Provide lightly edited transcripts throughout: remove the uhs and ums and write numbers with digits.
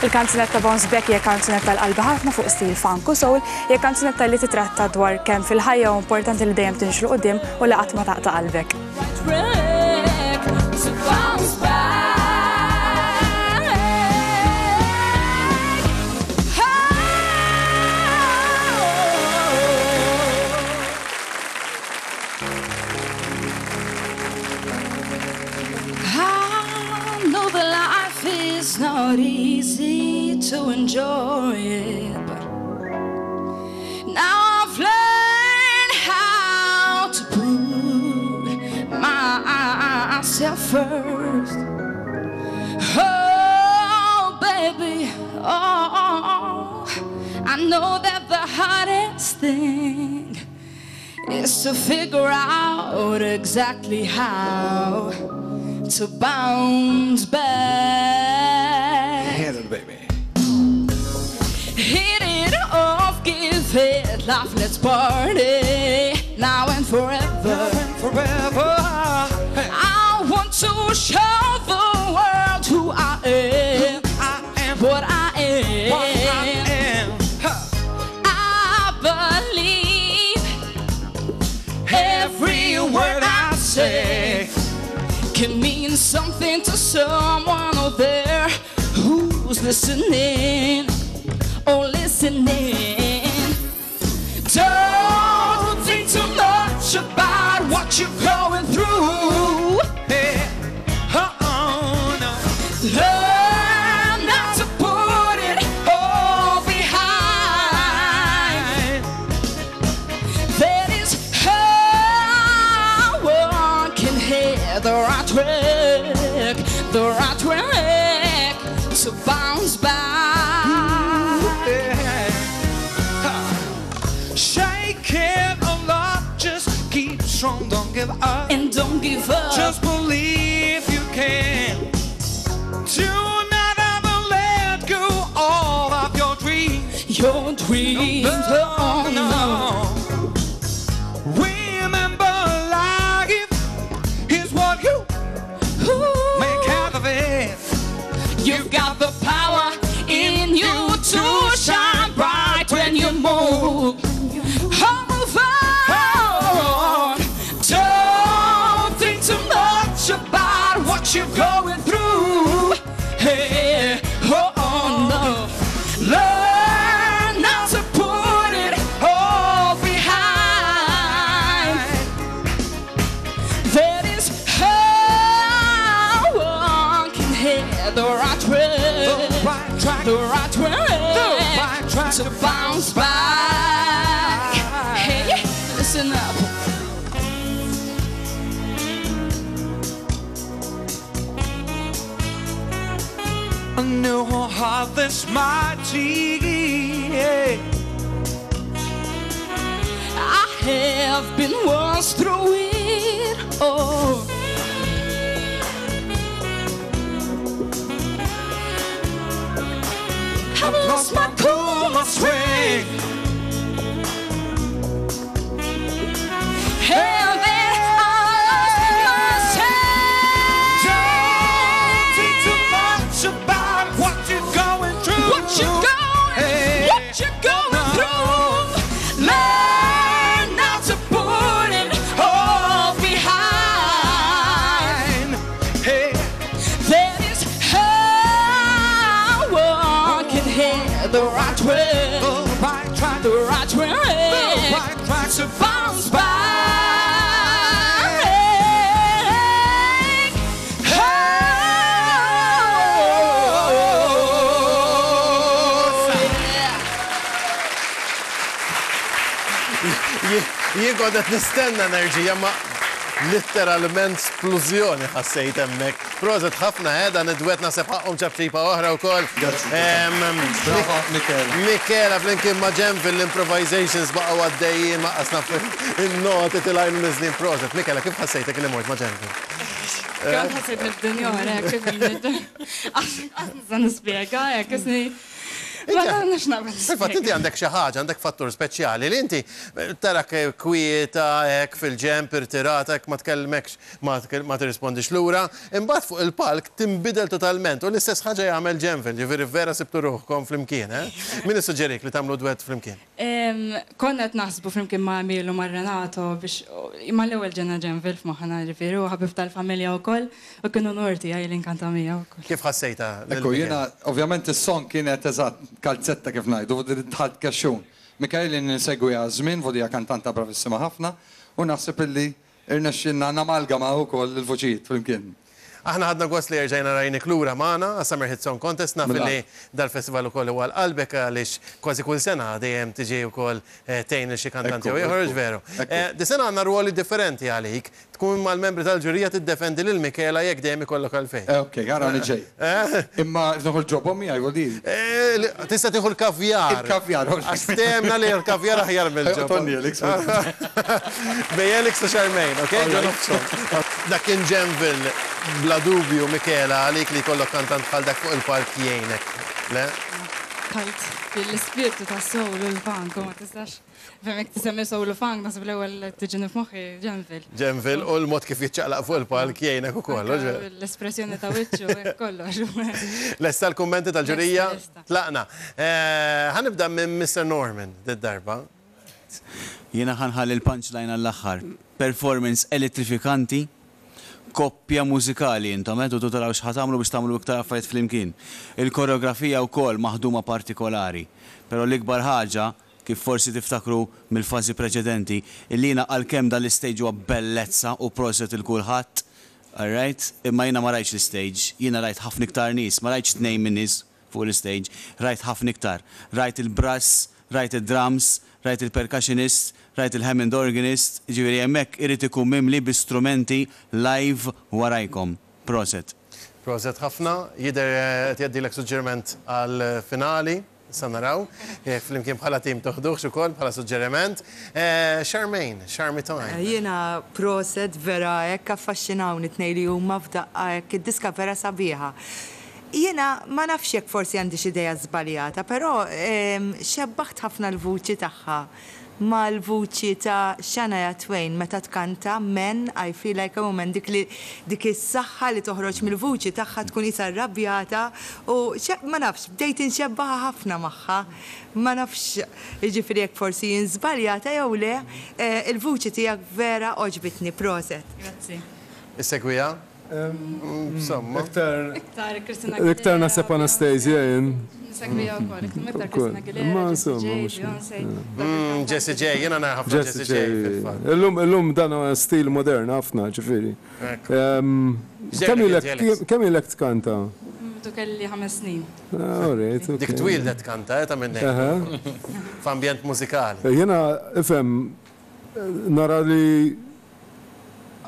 Il-kanzunetta Bounce Back hija kanzunetta għal qalbi ħafna fuq stil funk u soul, hija kanzunetta li titratta dwar kemm fil-ħajja hu importanti li dejjem timxi 'l quddiem u li qatt ma taqta' qalbek. I know that life is not easy to enjoy it, but now I've learned how to put myself first. Oh, baby, oh, I know that the hardest thing is to figure out exactly how to bounce back. Hit it, baby. Hit it off, give it life, let's party now and forever. Forever. Hey. I want to show the world who I am, I am what I am. what I am. Ha. I believe every word I say can mean something to someone out there who's listening or listening. Don't think too much about what you're going through. Hey. Oh, no. Learn not to put it all behind. That is how one can hit the right track, the right track to bounce back. Yeah. Ha. Shake it a lot, just keep strong, don't give up. And don't give up. Just believe you can. Do not ever let go all of your dreams. your dreams. Oh, no. Remember, life is what you Ooh. make out of it. You've got the power in you to shine bright when you move. Oh, move on. Don't think too much about what you're going through. Hey, oh, oh no. Learn not to put it all behind. That is how one can hit the right track, The right track. the right track, The right track to bounce back. Hey, listen up. I knew how hard this mighty. I have been once through it. Oh. I've lost my cool, my swing. And then I lost myself. Don't think too much about what you're going through. What you going, Hey. what you going through? Learn not to put it all behind. Hey, That is how one can hit the right track, the right track, the right the track right track to bounce back. Oh, yeah. Jien kont qed nistenna enerġija ma literalment splużjoni ħassejt hemmhekk. Proset ħafna eh, dan id-dwett naħseb ħaqqhom ċapċipa oħra wkoll. Grazzi. Bravo, Michela. Michela flimkien ma' Ġenvil l-improvisations baqgħu għaddejjin ma qasna in-noti tilgħin u niżlin proset. Michela, kif ħassejtek li mort ma' Ġenvil? Kemm ħassejt mid-dinja oħra, hekk kif Qas nista' nispjega, hekk isni. Ma nafx naqbel. Fil-fatt inti għandek xi ħaġa, għandek fattur speċjali li inti tarak kwieta hekk fil-ġenb, irtirata hekk ma tkellmekx, ma tirrispondix lura, imbagħad fuq il-palk tinbidel totalment u l-istess ħaġa jagħmel Genville, ġifieri vera sibtu ruħkom flimkien, eh? Min issuġġerik li tagħmlu dwett flimkien? Konna qed naħsbu flimkien ma' Emil u ma' Renato biex, mal-ewwel ġena Genville f'moħħna ġifieri, hu ħabib tal-familja wkoll u kien unur tiegħi li nkanta miegħu wkoll. Kif ħassejtha lil Ekku, Miguel? jiena ovvjament is-song kienet eżatt kalzetta kif ngħidu, dħalt kexxun. Mikael ilni nsegwiha żmien, hija kantanta bravissima ħafna u naħseb illi Irnexxielna namalgamaw ukoll il-vuċijiet flimkien. Aħna ħadna gost li erġajna rajnik lura magħna għas-Summer Hit Song Contest. Naf li dal-festival ukoll huwa għal qalbek għaliex kważi kull sena dejjem tiġi wkoll tgħin lil xi kantant jew ieħor, hux veru? Dis-sena għandna rwoli differenti għalik. Tkun mal-membri tal-ġurija tiddefendi lil Michela jekk dejjem ikollok għalfejn. Ok, arani ġej. Imma nieħu l-ġobon miegħi, vuol dire. Tista' tieħu l-kavjar. Il-kavjar, all right. Għax ftehemna li l-kavjar aħjar mill-ġobon. Tonni Elix. Bejn Elix u Charmaine, ok? Ġo nofshom. Dak kien Genville, bla dubju, Michela, għalik li jkollok kantant bħal dak fuq il-palk jgħinek, le? Dħalt fil-ispirtu tas-soul u l-funk u ma tistax Fem jekk tisemmi soul u funk naħseb l-ewwel li tiġini f'moħħi Genville. Genville u l-mod kif jiċċaqlaq fuq il-palk jgħinek ukoll, hux veru? L-espressjoni ta' wiċċu, hekk kollox. Lesta l-kummenti tal-ġurija? Lesta, lesta. Tlaqna. Ħa nibda minn Mister Norman did-darba. Jiena ħa nħalli l-punchline għall-aħħar. Performance elettrifikanti, koppja mużikali intom, eh, tridu taraw x'ħa tagħmlu biex tagħmlu iktar affarijiet flimkien. Il-koreografija wkoll maħduma partikolari. Però l-ikbar ħaġa Kif forsi tiftakru mill-fażi preċedenti, illi jiena għalkemm dan l-istage huwa bellezza u proset 'il kulħadd, alright, imma jiena ma rajtx l-istage, jiena rajt ħafna iktar nies, ma rajtx tnejn min-nies fuq l-istage, rajt ħafna iktar. Rajt il-brass, rajt id-drums, rajt il-percussionist, rajt il-Hammond organist, jiġifieri hemmhekk irid ikun mimli bi strumenti live warajkom. Proset. Proset ħafna. Jidher qed jgħaddilek suġġeriment għall-finali. Issa naraw jekk flimkien bħala tim toħduhx ukoll bħala suġġeriment. Charmaine, Charmy Time. Jiena proset vera hekk affaxxinawni t-tnejn li huma f'daqqa hekk id-diska vera sabiħa. Jiena ma nafx jekk forsi għandi xi idea żbaljata però xebbaħt ħafna l-vuċi tagħha mal-vuċi ta' Shania Twain meta tkanta Man I Feel Like a Woman dik li dik is-saħħa li toħroġ mill-vuċi tagħha tkun qisha rrabjata u ma nafx bdejt inxebbaha ħafna magħha ma nafx jiġifieri jekk forsi jien żbaljata jew le il-vuċi tiegħek vera għoġbitni proset. Grazzi. Issegwiha? Insomma. Iktar. Iktar Christina Aguilera. Iktar naħseb Anastasia jien. Nsegwiha wkoll, iktar Christina Aguilera. Ma insomma. Jessie J, Beyoncé. Jessie J, jiena nara ħafna Jessie J fil-fatt. Illum illum dan huwa stil modern ħafna, ġifieri. Kemm ilek tkanta? Mtu kelli ħames snin. All right, okay. Dik twildet tkanta, eh, ta' minn hekk. F'ambjent mużikali. Jiena, ifhem, nara li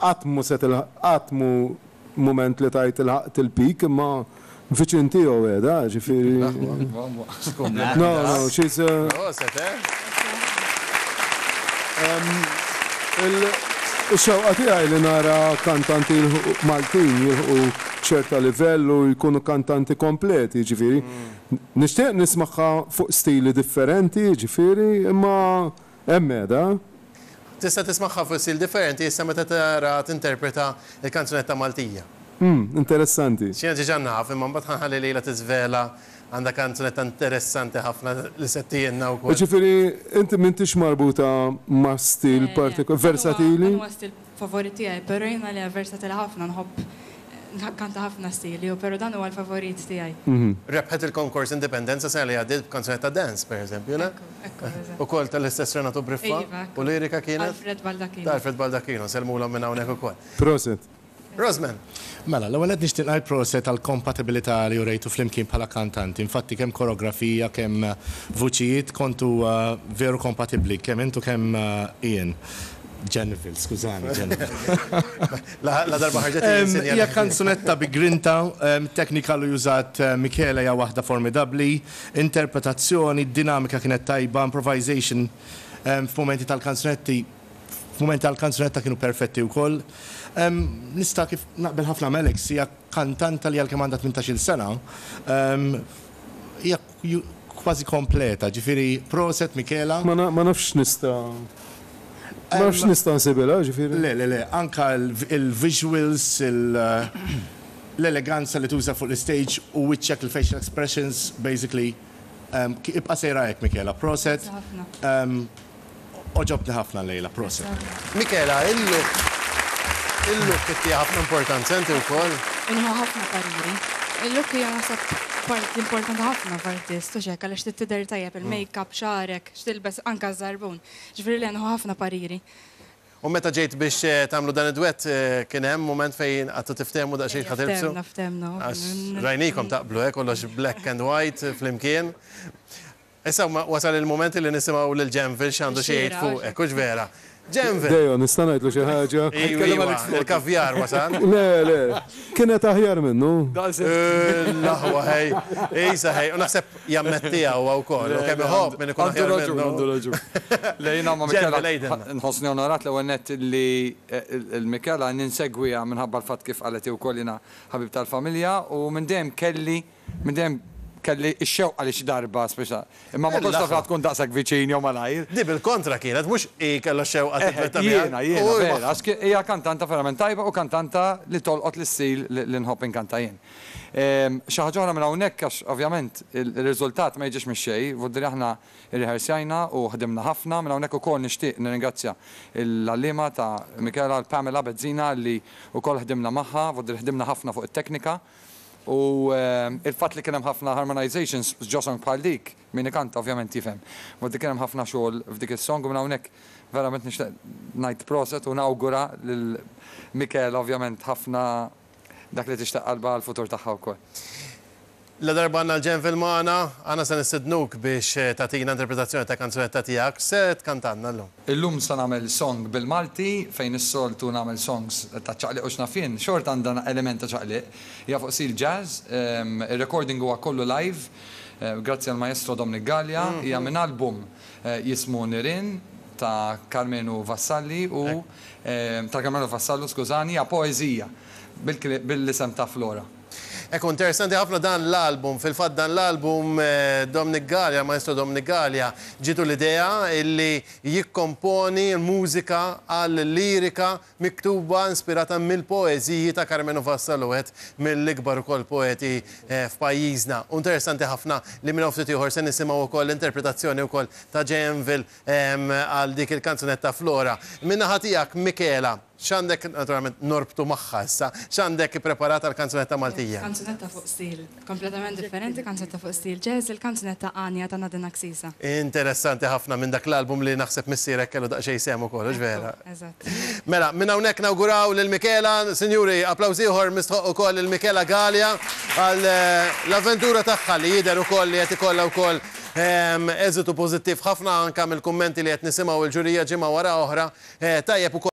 Qatt mhu se tilħaq, qatt mhu mument li tgħid ilħaqt il-peak imma viċin tiegħu qiegħda, ġifieri. No, no, she's a. Proset, eh? Ix-xewqa tiegħi li nara kantanti jilħqu Maltin jilħqu ċerta livell u jkunu kantanti kompleti, jiġifieri. Nixtieq nismagħha fuq stili differenti, jiġifieri, imma hemm qiegħda. Tista' tismagħha fuq stil differenti issa meta tara tinterpreta l-kanzunetta Maltija. Umm, interessanti. Jiena diġà naf, imma mbagħad ħa nħalli lilha tiżvela għandha kanzunetta interessanti ħafna li se ttielna wkoll. Jiġifieri inti m'intix marbuta ma' stil partikolari, versatili? Dan huwa stil favorit tiegħi, però jiena le versatile ħafna nħobb nkanta ħafna stili, però dan huwa l-favorit tiegħi. Rebħet il-konkors Indipendenza sena li għaddiet b'kanzunetta dance, per eżempju, le? Ekku, ekku, eżatt. Ukoll tal-istess Renato Briffa? Iva, ekku. U lirika kienet? Alfred Baldacchino. Ta' Alfred Baldacchino, nsellmulhom minn hawnhekk ukoll. Proset. Rosman. Mela, l-ewwel nett nixtieq ngħid proset għall-kompatibilità li urejtu flimkien bħala kantanti. Infatti kemm koreografija, kemm vuċijiet kontu veru kompatibbli, kemm int u kemm Ian. Geneville, skużani, Geneville. La darba ħarġet Ian sinjal. Hija kanzunetta bi grinta, teknika li użat Michele hija waħda formidabbli, interpretazzjoni, dinamika kienet tajba, improvisation f'mumenti tal-kanzunetti F'mumenti tal-kanzunetta kienu perfetti wkoll. Nista' kif naqbel ħafna ma' Alex, hija kantanta li għalkemm għandha 18-il sena, hija kważi kompleta, ġifieri proset Michela. Ma nafx x'nista' ma nafx x'nista' nsibilha, ġifieri. Le, le, le, anka l-visuals, l-eleganza li tuża fuq l-istage u wiċċek, il-facial expressions, basically. Ibqa' sejra hekk Michela, proset. Għoġobtni ħafna llejla, proset. Michela, il-look, il-look ittiha ħafna importanza inti wkoll? Inħu ħafna pariri. Il-look hija naħseb parti importanti ħafna f'artist, hux hekk, għaliex trid tidher tajjeb, il-makeup, xagħrek, x'tilbes, anke ż-żarbun. Ġifieri le, nieħu ħafna pariri. U meta ġejt biex tagħmlu dan id-dwett kien hemm mument fejn qgħadtu tiftehmu daqsxejn x'ħa tilbsu? Ftehmna, ftehmna. Għax rajnikom taqblu, eh, kollox black and white flimkien. Issa wasal il-mument li nisimgħu lil Genvil x'għandu xi jgħid fuqek, hux vera? Genvil! Deo, nista' ngħidlu xi ħaġa? Iva, iva, il-kavjar wasal. Le, le, kienet aħjar minnu. L-aħwa ħej, isa ħej, u naħseb jammettiha huwa wkoll, u kemm iħobb min ikun aħjar minnu. Għandu raġun, għandu raġun. Le jiena ma' Michela nħossni onorat l-ewwel nett li l-Michela ninsegwiha minħabba l-fatt kif qalet hi wkoll jiena ħabib tal-familja u minn dejjem kelli Minn dejjem kelli x-xewqa li xi darba, speċa, imma ma kontx naf li ħa tkun daqshekk viċin jew malajr. Di bil-kontra kienet, mhux hi kellha x-xewqa tiddwetta miegħek. Jiena, jiena, vera, għax hija kantanta verament tajba u kantanta li tolqot l-istil li nħobb inkanta jien. Xi ħaġa oħra minn hawnhekk għax ovvjament ir-riżultat ma jiġix mix-xejn, vuol dire aħna rriħersjajna u ħdimna ħafna. Minn hawnhekk ukoll nixtieq nirringrazzja l-għalliema ta' Michela, l-Pamela Bezzina li wkoll ħdimna magħha, vuol dire ħdimna ħafna fuq it-teknika. U il-fatt li kien hemm ħafna harmonizations ġo song bħal dik, min ikanta ovvjament jifhem. But kien hemm ħafna xogħol f'dik is-song u minn hawnhekk verament nixtieq ngħid proset u nawgura lil Michela ovvjament ħafna dak li tixtaq qalbha għall-futur tagħha wkoll. Ladarba għandna l-Genvil magħna, aħna se nistednuk biex tagħtina interpretazzjoni ta' kanzunetta tiegħek. X'se tkantalna llum? Illum se nagħmel song bil-Malti, fejn is-soltu nagħmel songs ta' ċaqliq u x'naf jien, xorta għandha element ta' ċaqliq. Hija fuq stil jazz, ir-recording huwa kollu live, grazzi għall-maestro Dominic Galea, hija minn album jismu Nirien ta' Karmenu Vassalli u ta' Karmenu Vassallo, skużani, hija poeżija bil-isem ta' Flora. Ekku, interessanti ħafna dan l-album. Fil-fatt dan l-album Dominic Galea, Maestro Dominic Galea, ġietu l-idea illi jikkomponi l-mużika għal lirika miktuba inspirata mill-poeżiji ta' Karmenu Vassallo, wieħed mill-ikbar ukoll poeti f'pajjiżna. U interessanti ħafna li minn hawn ftit ieħor se nisimgħu wkoll l-interpretazzjoni wkoll ta' Janvil għal dik il-kanzunetta Flora. Min-naħa tiegħek, Michela, X'għandek, naturalment norbtu magħha issa, x'għandek ippreparat għall-kanzunetta Maltija? Kanzunetta fuq stil kompletament differenti, kanzunetta fuq stil jazz, il-kanzunetta Għanja ta' Nadine Axisa. Interessanti ħafna minn dak l-album li naħseb missierek kellu daqsxejn sehem ukoll, hux vera? Eżatt. Mela, minn hawnhekk nawguraw lil Michela, sinjuri, applaws ieħor mistħoqq ukoll lil Michela Galea għal l-avventura tagħha li jidher ukoll li qed ikollha wkoll eżitu pożittiv ħafna anke mill-kummenti li qed nisimgħu l-ġurija ġimgħa wara oħra. Tajjeb ukoll.